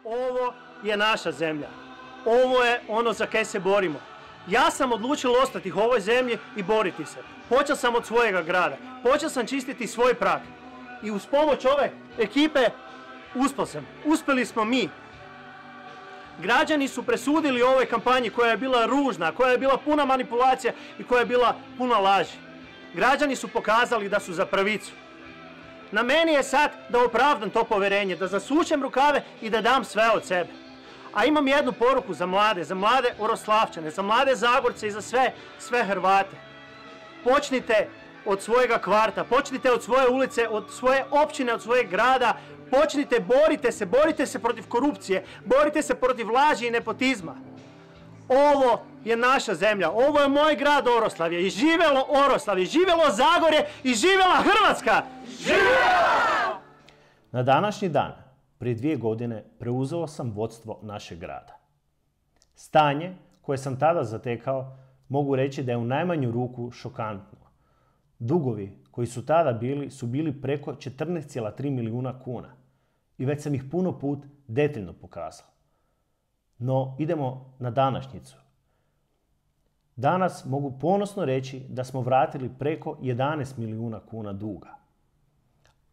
Ovo je naša zemlja. Ovo je ono za kaj se borimo. Ja sam odlučio ostati u ovoj zemlji i boriti se. Počeo sam od svojega grada. Počeo sam čistiti svoj prag. I uz pomoć ove ekipe uspjeli smo mi. Građani su presudili ovoj kampanji koja je bila ružna, koja je bila puna manipulacija i koja je bila puna laži. Građani su pokazali da su za pravicu. Na meni je sad da opravdam to povjerenje, da zasučem rukave i da dam sve od sebe. A imam jednu poruku za mlade Oroslavčane, za mlade Zagorce i za sve Hrvate. Počnite od svojega kvarta, počnite od svoje ulice, od svoje općine, od svojeg grada. Počnite, borite se protiv korupcije, borite se protiv laži i nepotizma. Ovo je naša zemlja, ovo je moj grad Oroslavlje i živjelo Oroslavlje, živjelo Zagorje i živjela Hrvatska! Živjela! Na današnji dan, prije 2 godine, preuzeo sam vodstvo našeg grada. Stanje koje sam tada zatekao, mogu reći da je u najmanju ruku šokantno. Dugovi koji su tada bili su bili preko 14,3 milijuna kuna i već sam ih puno put detaljno pokazao. No, idemo na današnjicu. Danas mogu ponosno reći da smo vratili preko 11 milijuna kuna duga.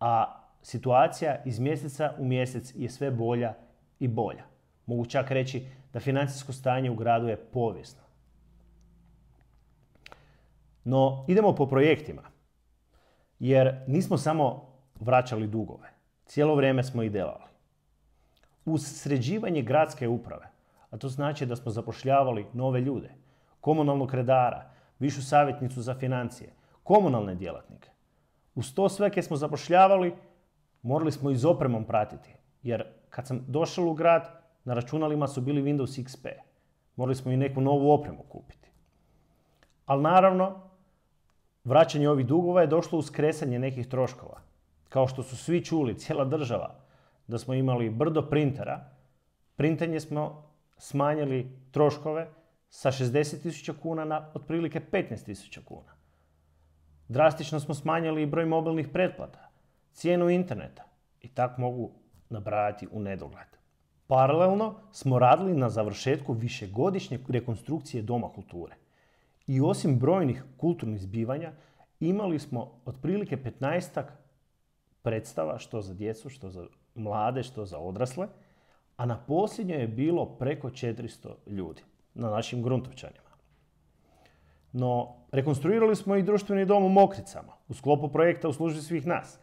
A situacija iz mjeseca u mjesec je sve bolja i bolja. Mogu čak reći da financijsko stanje u gradu je povijesno. No, idemo po projektima. Jer nismo samo vraćali dugove. Cijelo vrijeme smo ih delali. Uz sređivanje gradske uprave, a to znači da smo zapošljavali nove ljude, komunalnog redara, višu savjetnicu za financije, komunalne djelatnike. Uz to sve koje smo zapošljavali, morali smo i s opremom pratiti. Jer kad sam došao u grad, na računalima su bili Windows XP. Morali smo i neku novu opremu kupiti. Ali naravno, vraćanje ovih dugova je došlo uz kresanje nekih troškova. Kao što su svi čuli, cijela država, da smo imali brdo printera, printanje smo smanjili troškove sa 60.000 kuna na otprilike 15.000 kuna. Drastično smo smanjili i broj mobilnih pretplata, cijenu interneta i tako mogu nabrajati u nedogled. Paralelno smo radili na završetku višegodišnje rekonstrukcije Doma kulture. I osim brojnih kulturnih zbivanja, imali smo otprilike 15-ak predstava, što za djecu, što za mlade, što za odrasle, a na posljednjoj je bilo preko 400 ljudi na našim Gruntovčanima. No, rekonstruirali smo i društveni dom u Mokricama u sklopu projekta U službi svih nas.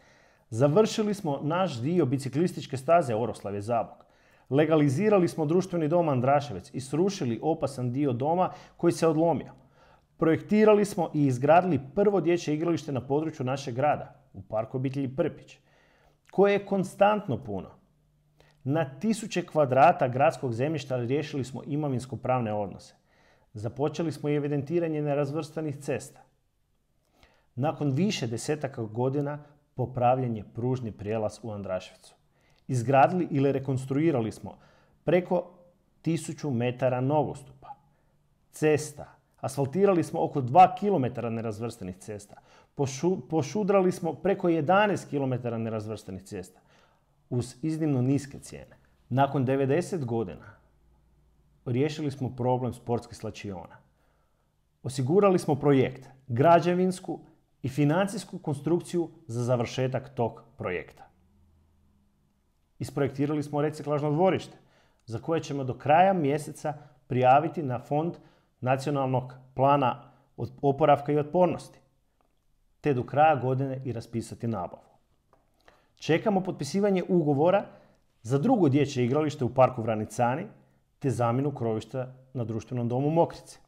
Završili smo naš dio biciklističke staze Oroslavlje-Zabok. Legalizirali smo društveni dom Andraševec i srušili opasan dio doma koji se odlomio. Projektirali smo i izgradili prvo dječje igralište na području našeg grada, u parku obitelji Prpić, koje je konstantno puno. Na 1000 kvadrata gradskog zemljišta riješili smo imovinsko-pravne odnose. Započeli smo i evidentiranje nerazvrstanih cesta. Nakon više desetaka godina popravljen je pružni prijelaz u Andraševcu. Izgradili ili rekonstruirali smo preko 1000 metara nogostupa, cesta. Asfaltirali smo oko 2 km nerazvrstanih cesta. Pošudrali smo preko 11 km nerazvrstanih cesta uz iznimno niske cijene. Nakon 90 godina riješili smo problem sportskih slačiona. Osigurali smo projekt, građevinsku i financijsku konstrukciju za završetak tog projekta. Isprojektirali smo reciklažno dvorište za koje ćemo do kraja mjeseca prijaviti na Fond Nacionalnog plana oporavka i otpornosti, te do kraja godine i raspisati nabavu. Čekamo potpisivanje ugovora za drugo dječje igralište u parku Vranicani, te zamjenu krovišta na društvenom domu Mokrice.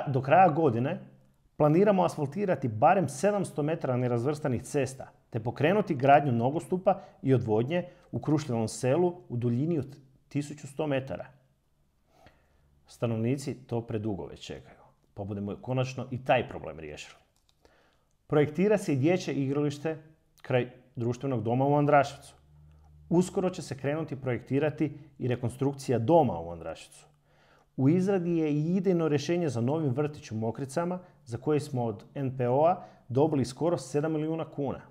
Do kraja godine planiramo asfaltirati barem 700 metara nerazvrstanih cesta, te pokrenuti gradnju nogostupa i odvodnje u Krušljevom selu u duljini od 1100 metara. Stanovnici to predugo već čekaju, pa budemo konačno i taj problem riješili. Projektira se i dječje igralište kraj društvenog doma u Andraševcu. Uskoro će se krenuti projektirati i rekonstrukcija doma u Andraševcu. U izradi je i idejno rješenje za novi vrtić u Mokricama, za koje smo od NPO-a dobili skoro 7 milijuna kuna.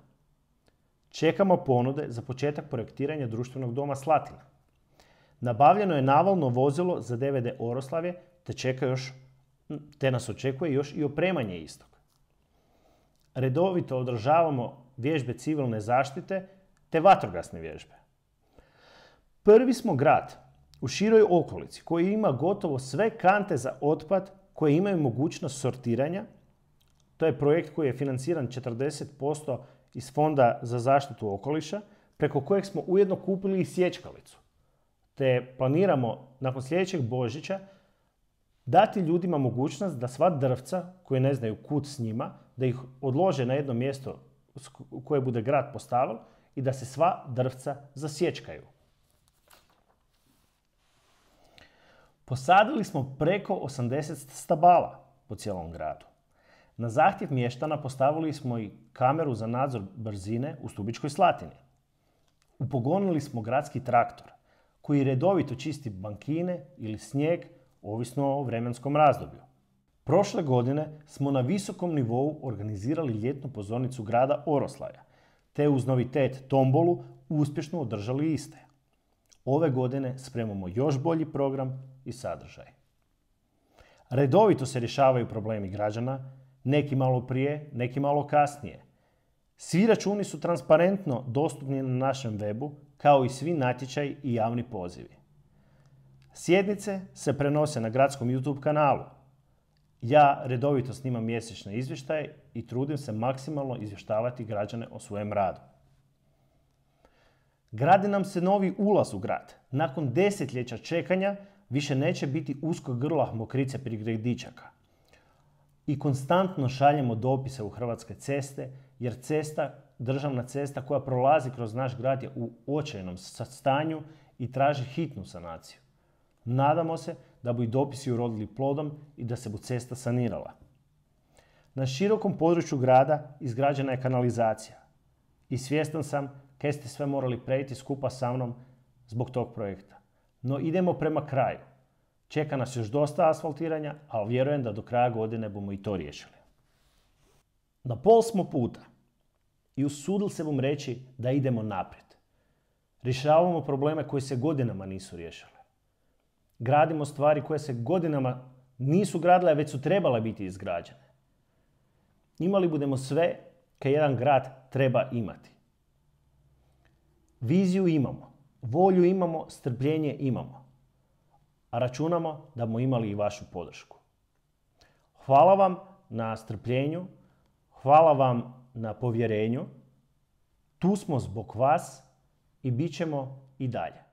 Čekamo ponude za početak projektiranja društvenog doma Slatina. Nabavljeno je navalno vozilo za DVD Oroslavje, te nas očekuje još i opremanje istog. Redovito održavamo vježbe civilne zaštite te vatrogasne vježbe. Prvi smo grad u široj okolici koji ima gotovo sve kante za otpad koje imaju mogućnost sortiranja. To je projekt koji je financiran 40% iz Fonda za zaštitu okoliša, preko kojeg smo ujedno kupili i sječkalicu. Te planiramo nakon sljedećeg Božića dati ljudima mogućnost da sva drvca koje ne znaju kud s njima, da ih odlože na jedno mjesto koje bude grad postavil i da se sva drvca zasječkaju. Posadili smo preko 80 stabala po cijelom gradu. Na zahtjev mještana postavili smo i kameru za nadzor brzine u Stubičkoj Slatini. Upogonili smo gradski traktor koji redovito čisti bankine ili snijeg, ovisno o vremenskom razdoblju. Prošle godine smo na visokom nivou organizirali ljetnu pozornicu grada Oroslavja, te uz novitet tombolu uspješno održali iste. Ove godine spremamo još bolji program i sadržaj. Redovito se rješavaju problemi građana, neki malo prije, neki malo kasnije. Svi računi su transparentno dostupni na našem webu, kao i svi natječaji i javni pozivi. Sjednice se prenose na gradskom YouTube kanalu. Ja redovito snimam mjesečne izvještaje i trudim se maksimalno izvještavati građane o svojem radu. Gradi nam se novi ulaz u grad. Nakon desetljeća čekanja više neće biti uskog grla mokrice pri gredičaka. I konstantno šaljemo dopise u Hrvatske ceste, jer državna cesta koja prolazi kroz naš grad je u očajnom stanju i traži hitnu sanaciju. Nadamo se da bu i dopisi urodili plodom i da se bu cesta sanirala. Na širokom području grada izgrađena je kanalizacija. I svjestan sam kaj ste sve morali prejti skupa sa mnom zbog tog projekta. No idemo prema kraju. Čeka nas još dosta asfaltiranja, ali vjerujem da do kraja godine bomo i to riješili. Na pol smo puta i usudil se bom reći da idemo naprijed. Rješavamo probleme koji se godinama nisu riješili. Gradimo stvari koje se godinama nisu gradile, već su trebale biti izgrađene. Imali budemo sve kaj jedan grad treba imati. Viziju imamo, volju imamo, strpljenje imamo. A računamo da bomo imali i vašu podršku. Hvala vam na strpljenju, hvala vam na povjerenju. Tu smo zbog vas i bit ćemo i dalje.